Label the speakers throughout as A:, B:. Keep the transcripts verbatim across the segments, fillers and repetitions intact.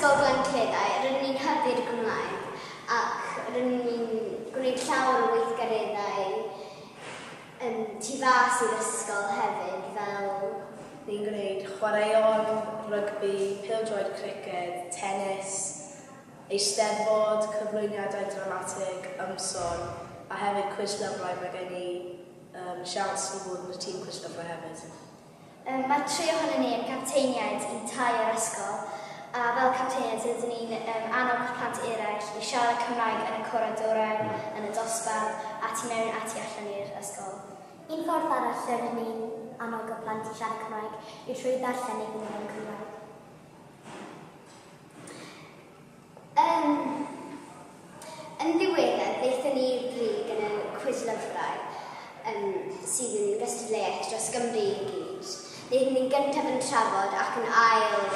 A: Ysgol Glan Cleddau, rydyn ni'n hybu'r Gymraeg ac rydyn ni'n gwneud llawer o weithgareddau um, tu fas i'r ysgol hefyd, fel
B: Ni'n gwneud chwaraeon, rygbi, pêl-droed, criced, tennis, eisteddfod, cyflwyniadau dramatig, ymson, a hefyd cwis lyfrau. Mae gen i um, siawns i fod yn y tîm cwis lyfrau hefyd.
A: Um, mae tri ohonon ni yn capteiniaid i tai yr ysgol, a fel capteiniaid rydyn ni'n um, annog plant eraill i siarad Cymraeg yn y coridorau, yn y dosbarth, a tu mewn a tu allan i'r ysgol.
C: Un ffordd arall lle rydyn ni'n annog y plant i siarad Cymraeg yw trwy ddarllen iddyn nhw yn Cymraeg.
A: Um, yn ddiweddar, ddaethon ni i'r brig yn y cwis lyfrau um, sydd yn gystadleuaeth dros Gymru i gyd. Ddaethon ni'n gyntaf yn trafod ac yn ail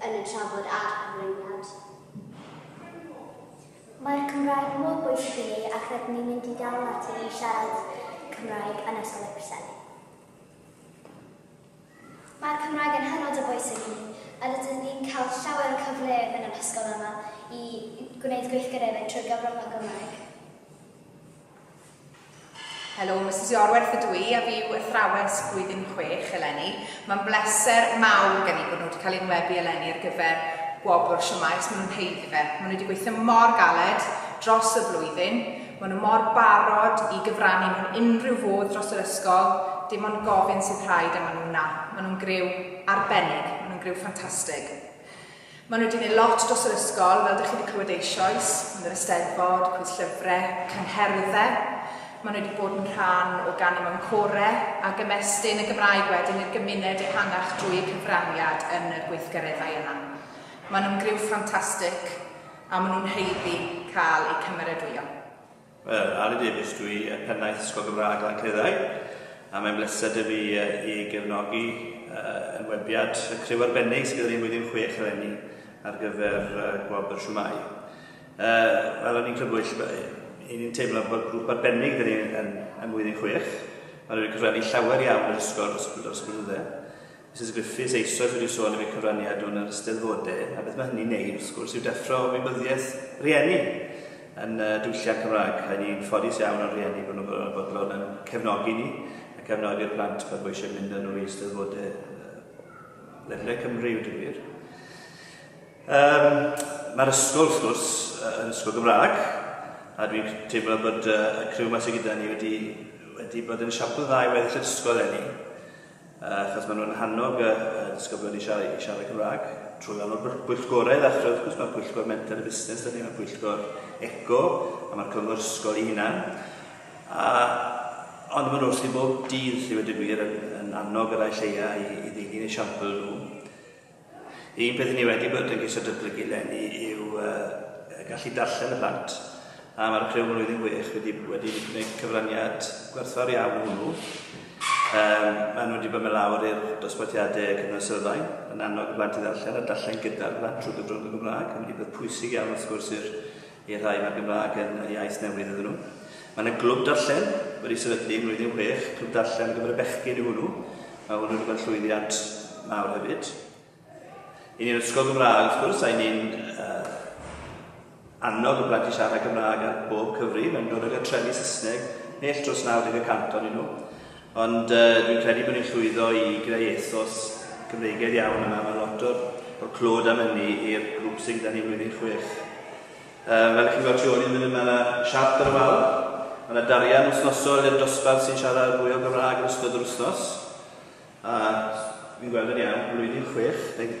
A: yn y trafod a'r cyflwyniad.
C: Mae'r Cymraeg mor bwysig i ni ac rydyn ni'n mynd i dal ati i siarad Cymraeg yn Ysgol y Preseli.
A: Mae'r Cymraeg yn hynod o bwysig i ni, a rydyn ni'n cael llawer o cyfleoedd yn yr ysgol yma i gwneud gweithgareddau trwy gyfrwng y Gymraeg.
D: Helo, Missus Iorwerth ydw i, a fi yw athrawes blwyddyn chwech eleni. Mae'n bleser mawr gen i bod nhw wedi cael enwebu eleni ar gyfer gwobr Shwmae. Maen nhw'n haeddu fe. Maen nhw wedi gweithio mor galed dros y flwyddyn. Maen nhw mor barod i gyfrannu mewn unrhyw fodd dros yr ysgol. Dim ond gofyn sydd rhaid a maen nhw'n na. Maen nhw'n griw arbennig, maen nhw'n griw ffantastig. Maen nhw wedi gwneud lot dros yr ysgol, fel ydych chi wedi clywed eisoes, yn yr eisteddfod, cwis llyfrau, cyngherddau. Maen nhw wedi bod yn rhan o ganu mewn corau ac ymestyn y Gymraeg wedyn i'r gymuned ehangach drwy eu cyfraniad yn y gweithgareddau yna. Maen nhw'n griw ffantastig a maen nhw'n haeddu cael eu cymeradwyo.
E: Wel, Ali Davies dwi, y pennaeth Ysgol Gymraeg Glan Cleddau, a mae'n bleser 'da fi i gefnogi uh, enwebiad y criw arbennig sydd gyda ni blwyddyn chwech eleni ar gyfer uh, gwobr Shwmae. Uh, fel o'n i'n crybwyll, i ni'n teimlo bod grŵp arbennig gyda ni yn, yn blwyddyn chwech. Maen nhw wedi cyfrannu llawer iawn i'r ysgol dros, dros y blynydde. Missus Griffiths eisoes wedi sôn am eu cyfraniad nhw'n yr eisteddfodau, a beth mae hynny'n neud, wrth gwrs, yw deffro ymwybyddiaeth rieni yn uh, diwylliant Cymraeg. A ni'n ffodus iawn o'r rieni bod nhw'n bodlon yn cefnogi ni a cefnogi'r plant pan bod eisiau mynd â nhw i eisteddfodau uh, ledled Cymru yw gwir. Um, Mae'r ysgol, wrth gwrs, yn ysgol Gymraeg, a dwi'n teimlo bod uh, y criw yma sydd gyda ni wedi, wedi bod yn esiampl dda i weddill yr ysgol eleni, uh, achos maen nhw'n hannog y, y disgyblion i siarad, i siarad Cymraeg trwy wahanol bwyllgorau ddechrau, wrth gwrs, mae'r pwyllgor menter y busnes, dyn ni, mae'r pwyllgor eco, a mae'r cyngor ysgol ei hunan. A, ond maen nhw wrth i bob dydd, i wedi gwir, yn, yn annog yr rhai lleia i, i ddilyn esiampl nhw. Un peth ni wedi bod yn ceisio datblygu eleni yw uh, gallu darllen y plant. A mae'r criw blwyddyn chwech wedi, wedi gwneud cyfraniad gwerthfawr iawn hwnnw. Um, maen nhw wedi bod mynd lawr i'r dosbarthiadau cyfnod sylfaen, yn annog y plant i ddarllen a darllen gyda'r plant trwy gyfrwng y Gymraeg. Mae'n wedi bod pwysig iawn wrth gwrs i'r i'r rhai mae'r Gymraeg yn iaith newydd iddyn nhw. Mae yna glwb darllen wedi sefydlu yn blwyddyn chwech, clwb darllen ar gyfer y bechgyn yw hwnnw. Mae hwnnw wedi bod yn llwyddiant mawr hefyd. I ni'n ysgol Gymraeg, wrth gwrs, a i ni'n uh, annog y plant i siarad Cymraeg ar bob cyfri. Mae'n dod o gartrefi Saesneg, nell dros naw deg y cant ohonyn nhw. Ond uh, dwi'n credu bod ni'n llwyddo i greu ethos Cymreigaidd iawn yma. Mae lot o'r, o'r clod am hynny i'r grŵp sydd gyda ni blwyddyn chwech. Um, fel chi'n gweld tu ôl i'n mynd, mae yna siart ar y wal. Mae yna darian wythnosol i'r dosbarth sy'n siarad fwy o Gymraeg yn ystod yr wythnos. A fi'n gweld yn iawn, blwyddyn chwech, neu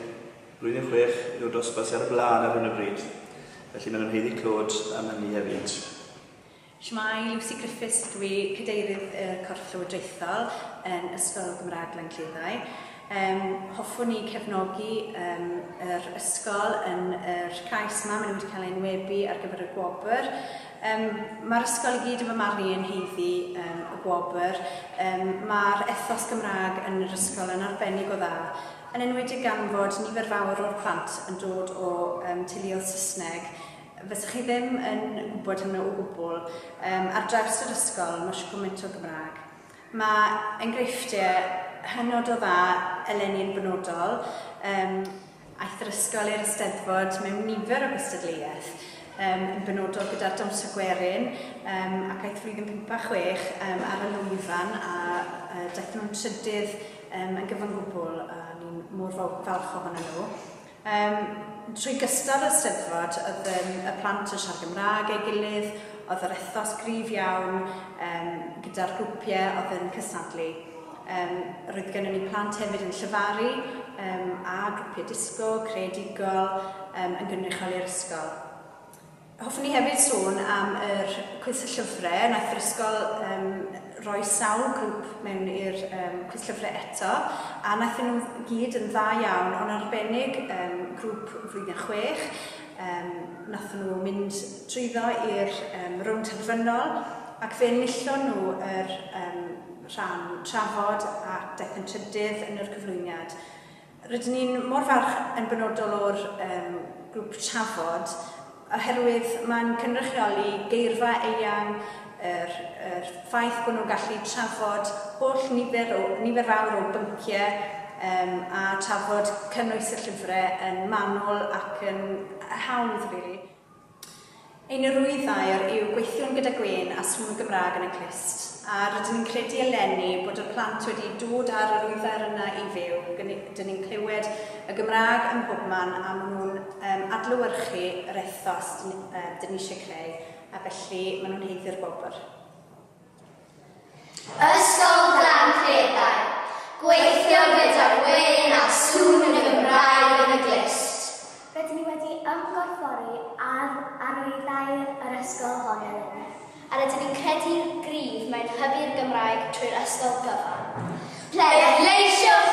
E: blwyddyn chwech yw'r dosbarth sydd ar y blaen ar hyn o bryd. Felly maen nhw'n haeddu clod am hynny hefyd.
F: Shwmae, Lucy Griffiths dwi, cadeirydd y Corff Llywodraethol yn Ysgol Gymraeg Glan Cleddau. Um, hoffwn ni cefnogi um, yr ysgol yn yr cais yma, maen nhw wedi cael ei enwebu ar gyfer y gwobr. Um, Mae'r ysgol i gyd yn fy marn i yn haeddu um, y gwobr. Um, Mae'r ethos Gymraeg yn yr ysgol yn arbennig o dda, yn enwedig gan fod nifer fawr o'r plant yn dod o um, teuluoedd Saesneg. Fysech chi ddim yn gwybod hynny o gwbl. Um, ar draws yr ysgol, mae eisiau gymaint o Gymraeg. Mae enghreifftiau hynod o dda eleni yn benodol, um, Aeth yr ysgol i'r Eisteddfod mewn nifer o gystadleuaeth, um, yn benodol gyda'r dawnsio gwerin, um, ac aeth flwyddyn pump a chwech um, ar y lwyfan a uh, daethon nhw'n trydydd um, yn gyfan gwbl, a ni'n mor falch ohonyn nhw. Um, trwy gystal y Eisteddfod, oedd um, y plant yn siarad Gymraeg ei gilydd, oedd yr ethos gryf iawn um, gyda'r grwpiau oedd yn cystadlu. Um, roedd gennym ni plant hefyd yn llefaru um, a grwpiau disgo, creadigol um, yn gynrychioli'r ysgol. Hoffwn i hefyd sôn am yr cwis y llyfrau. Naeth yr ysgol um, roi sawl grŵp mewn i'r um, cwis llyfrau eto, a naethon nhw gyd yn dda iawn, ond arbennig um, grŵp flwyddyn chwech. Um, nathon nhw mynd trwyddo i'r um, rownd terfynol, ac fe enillon nhw yr um, rhan trafod a daeth yn trydydd yn yr cyflwyniad. Rydyn ni'n mor falch yn benodol o'r um, grŵp trafod, oherwydd mae'n cynrychioli geirfa eang, yr, yr ffaith bod nhw'n gallu trafod holl nifer, o, nifer fawr o bynciau um, a trafod cynnwys y llyfrau yn manwl ac yn hawdd, really. Ein arwyddair yw gweithio'n gyda gwên a sŵn Gymraeg yn y clust, a rydyn ni'n credu eleni bod y plant wedi dod ar yr arwyddair yna i fyw. Dyn ni'n clywed y Gymraeg ym mhobman a maen nhw'n um, adlewyrchu yr ethos dyn, uh, dyn ni eisiau creu, a felly maen nhw'n haeddu'r gwobr.
A: Ysgol Glan Cleddau, gweithio gyda gwên a sŵn y Gymraeg yn y glust.
C: Rydyn ni wedi ymgorffori ar arwyddair yr ysgol hon eleni.
A: A rydyn ni'n credu'n gryf mewn hybu'r Gymraeg trwy'r ysgol gyfan. Pleidleisiwch!